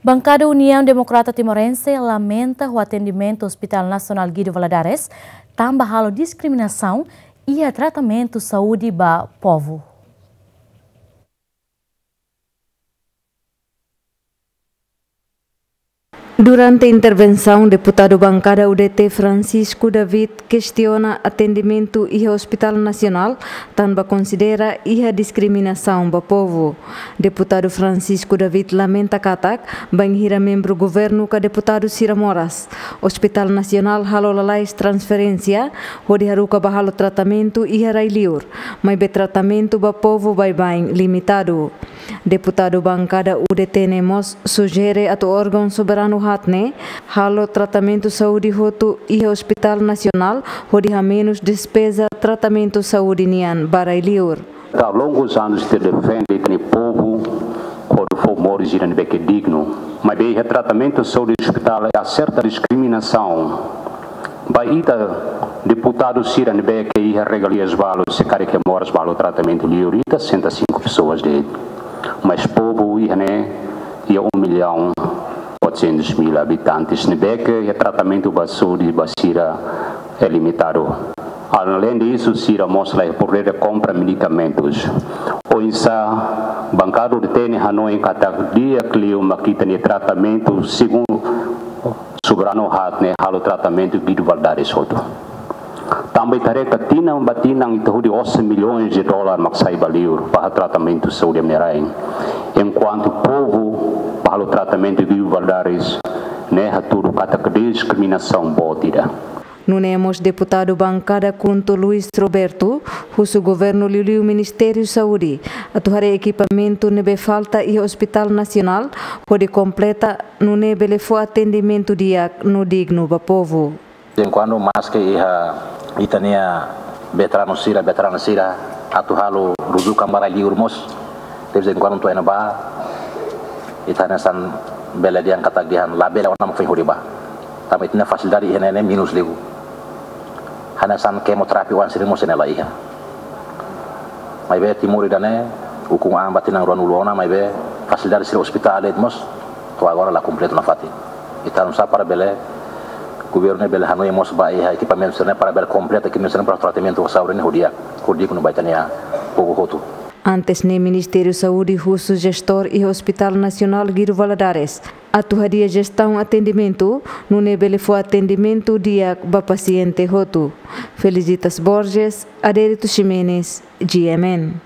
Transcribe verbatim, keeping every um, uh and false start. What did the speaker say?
Bankada Uniaun Demokrata Timorense lamenta ho atendimentu Hospital Nasionál Guido Valadares tanba halo diskriminasaun iha tratamentu saúde ba povu. Durante intervensaun, deputadu bankada U D T Francisco David kestiona atendimentu iha Hospital Nasionál tanba konsidera iha diskriminasaun ba povu. Deputadu Francisco David lamenta katak, bainhira membru governu ka deputadu sira moras, Hospital Nasionál halo lalais transferénsia hodi haruka ba halo tratamentu iha rai-liur, maibé tratamentu ba povu baibain limitadu. Deputadu bankada U D T ne'e mós sujere atu órgaun soberanu haat ne'e halo tratamentu saúde hotu iha Hospital Nasionál hodi hamenus despeza tratamentu saúde nian ba rai-liur. Há longos anos ita defende ita-nia povu, hodi fó moris ida ne'ebé ke dignu. Maibé iha tratamentu saúde hospital há serta diskriminasaun. Ba ita deputadu sira ne'ebé ke iha regalias balu, se karik ke moras ba halo tratamentu liur, ita sessenta e cinco pessoas de'it. Mas povu iha ne'e iha um milhão quatrocentos mil habitantes ne'ebé ke iha tratamentu ba saúde ba sira é limitadu. Além disso, sira mós la iha podér de kompra medikamentus. Oinsá bankada U D T ne'e hanoin katak di'ak liu mak ita-nia tratamentu, segundu soberanu haat ne'e halo tratamentu Guido Valadares hotu. Tanba ita haree katak tinan ba tinan ita hodi osan milhões de dólar mak sai ba liur ba tratamentu saúde nia rain. Enkuantu povu ba halo tratamentu Guido Valadares ne'e hatudu katak diskriminasaun boot ida. Nune'e mós deputadu bankada KHUNTO Luis Roberto husu governu liuliu Ministériu Saúde atu haree ekipamentu ne'ebé falta iha Hospital Nasionál hodi kompleta nune'e bele fó atendimentu di'ak no dignu ba povu. De vez em quando, maske iha ita-nia veteranu sira, veterana sira atu halo rujukan ba rai-liur mós, de vez em quando atu iha ne'ebá, ita hanesan bele dehan katak dehan labele ona mak foin hodi bá. Tanba ita-nia fasilidade iha ne'e ne'e menus liu. Hanesan kemoterapia oan sira mós ne'e la iha. Maibé Timor ida-ne'e ukun an ba tinan ruanulu ona, maibé fasilidade sira hospital de'it mós to'o agora la kompletu nafatin. Ita oinsá para bele governu ne'e bele hanoin mós ba iha ekipamentu sira-ne'e para bele kompleta ekipamentu sira-ne'e para tratamentu saúde ne'e hodi di'ak, hodi dignu ba ita-nia povu hotu. Antes ne'e Ministériu Saúde husu jestór iha Hospital Nasionál Guido Valadares atu hadi'a jestaun atendimentu, nune'e bele fó atendimentu di'ak ba pasiente hotu. Felicitas Borges, Adérito Ximenes, G M N.